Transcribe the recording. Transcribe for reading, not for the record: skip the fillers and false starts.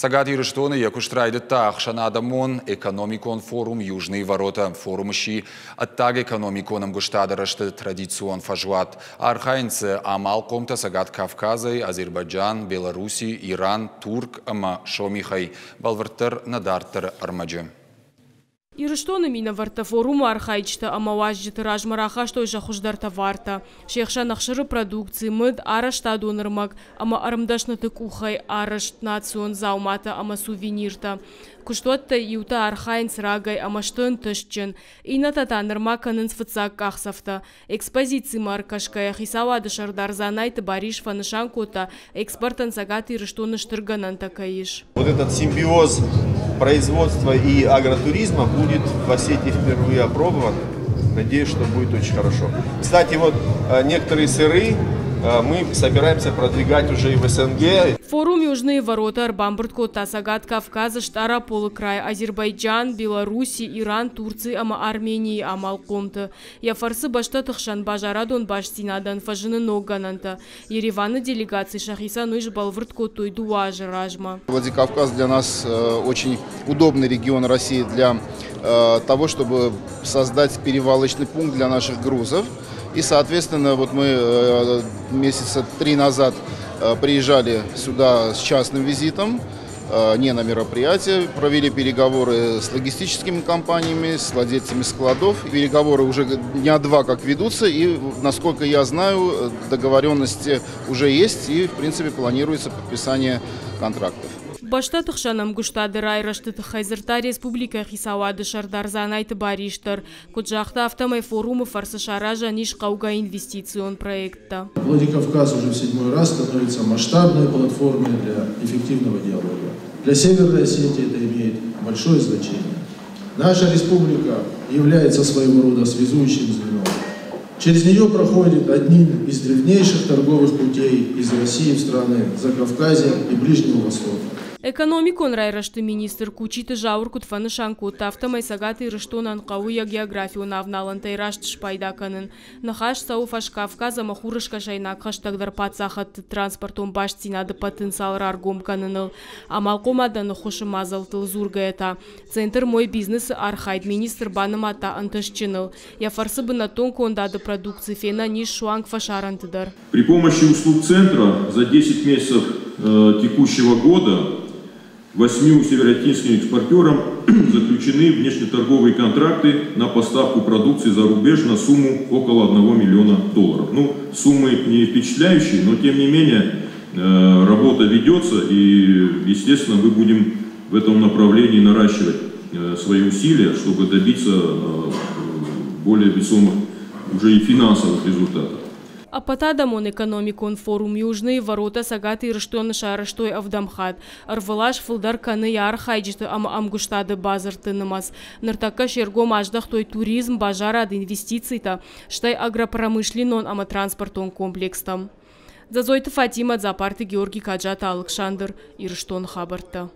Цӕгат Ирыстоны йӕ куыст райдыдта ӕхсӕнадӕмон экономикон форум «Южные ворота». Форум сси ӕддагэкономикон ӕмгуыстады рӕзты традицион фӕзуат. Архайынц дзы амалхъомтӕ Цӕгат Кавказӕй, Азербайджан, Беларуси, Иран, Турк ӕмӕ Сомихӕй. Бӕлвырддӕр нӕ дарддӕры ӕрмӕджы. Ирыстоны минӕвӕрттӕ форумы архайджытӕ ӕмӕ уазджыты размӕ рахастой сӕ хуыздӕр товартӕ. Се хсӕн ӕхсыры продукци, мыд, арӕзтадон ӕрмӕг ӕмӕ ӕрмдӕсныты къухӕй арӕзт национ дзауматӕ ӕмӕ сувениртӕ. Куыстуӕттӕй иутӕ архайынц рагӕй ӕмӕ сты ӕнтыстджын, иннӕтӕ та нырма кӕнынц фыццаг къахдзӕфтӕ. Экспозицимӕ ӕркӕсгӕйӕ Хицауады сӕрдар Дзанайты Барис фӕнысан кодта, экспортӕн Цӕгат Ирыстоны стыр гӕнӕнтӕ кӕй ис. Вот этот симбиоз производства и агротуризма будет в Осетии впервые опробован. Надеюсь, что будет очень хорошо. Кстати, вот некоторые сыры мы собираемся продвигать уже и в СНГ. Форум «Южные ворота» ӕрбамбырд кодта Цӕгат Кавказы, Стъараполы край, Азербайджан, Беларуси, Иран, Турци ӕмӕ Арменийы амалхъомты. Йӕ фӕрцы бӕстӕты хсӕн базарадон бастдзинадӕн фӕзыны ног гӕнӕнтӕ. Ереваны делегаци сӕхицӕн уый сбӕлвырд кодтой 2 азы размӕ. Владикавказ для нас очень удобный регион России для того, чтобы создать перевалочный пункт для наших грузов. И, соответственно, вот мы месяца 3 назад приезжали сюда с частным визитом, не на мероприятие, провели переговоры с логистическими компаниями, с владельцами складов. Переговоры уже дня два как ведутся, и, насколько я знаю, договоренности уже есть, и, в принципе, планируется подписание контрактов. Бӕстӕты хсӕн ӕмгуыстады райрӕзты тыххӕй дзырдта республикӕйы хицауады сӕрдар Дзанайты Барис дӕр. Куыд загъта, афтӕмӕй форумы фӕрцы саразӕн ис хъӕугӕ инвестицион проекттӕ. Владикавказ уже в седьмой раз становится масштабной платформой для эффективного диалога. Для Северной Осетии это имеет большое значение. Наша республика является своего рода связующим звеном. Через нее проходит одним из древнейших торговых путей из России в страны Закавказья и Ближнего Востока. Экономикон райрӕзты министр Кучиты Зауыр куыд фӕнысан кодта, афтӕмӕй Цӕгат Ирыстонӕн хъӕуы йӕ географион авналӕнтӕй раст спайда кӕнын. Ныхас цӕуы Фӕскавказ ӕмӕ Хурыскӕсӕйнаг хӕстӕгдӕр паддзахӕдты транспортон бастдзинады потенциал раргом кӕныныл. Амалхъомадӕн ӕххуысы мадзӕлттыл дзургӕйӕ та, центр «Мой бизнес»-ы архайд министр банымадта ӕнтыстджыныл. Йӕ фӕрцы бынӕттон кондады продукци фенӕн ис суанг фӕсарӕнты дӕр. При помощи услуг центра за 10 месяцев текущего года восьмью североосетинским экспортерам заключены внешнеторговые контракты на поставку продукции за рубеж на сумму около 1 миллиона долларов. Ну, суммы не впечатляющие, но тем не менее работа ведется, и, естественно, мы будем в этом направлении наращивать свои усилия, чтобы добиться более весомых уже и финансовых результатов. Ӕппӕтадӕмон экономикон форум «Южные ворота» Цӕгат Ирыстоны сарӕзтой ӕвдӕм хатт. Ӕрвылаз фылдӕр кӕны йӕ архайджыты ӕмӕ ӕмгуыстады бадзырдты нымӕц. Ныртӕккӕ се ргом аздӕхтой туризм, базарад, инвестицитӕ, стӕй агропромышленнон ӕмӕ транспортон комплекстӕм. Дзӕдзойты Фатимӕ, Дзапарты Георгий, Каджаты Алыксандр, Ирыстоны хабӕрттӕ.